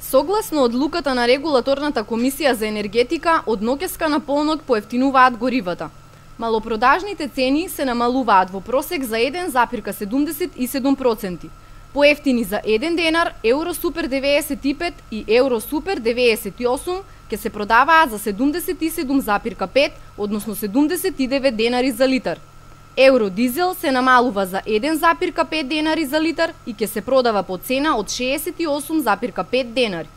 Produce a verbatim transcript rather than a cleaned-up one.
Согласно одлуката на Регулаторната комисија за енергетика, од ноќеска на полнок поевтинуваат горивата. Малопродажните цени се намалуваат во просек за еден запирка седумдесет и седум проценти. Поевтини за еден денар, Евросупер девеесет и пет и Евросупер девеесет и осум ќе се продаваат за седумдесет и седум запирка пет, односно седумдесет и девет денари за литар. Евродизел се намалува за еден запирка пет денари за литар и ќе се продава по цена од шеесет и осум запирка пет денари.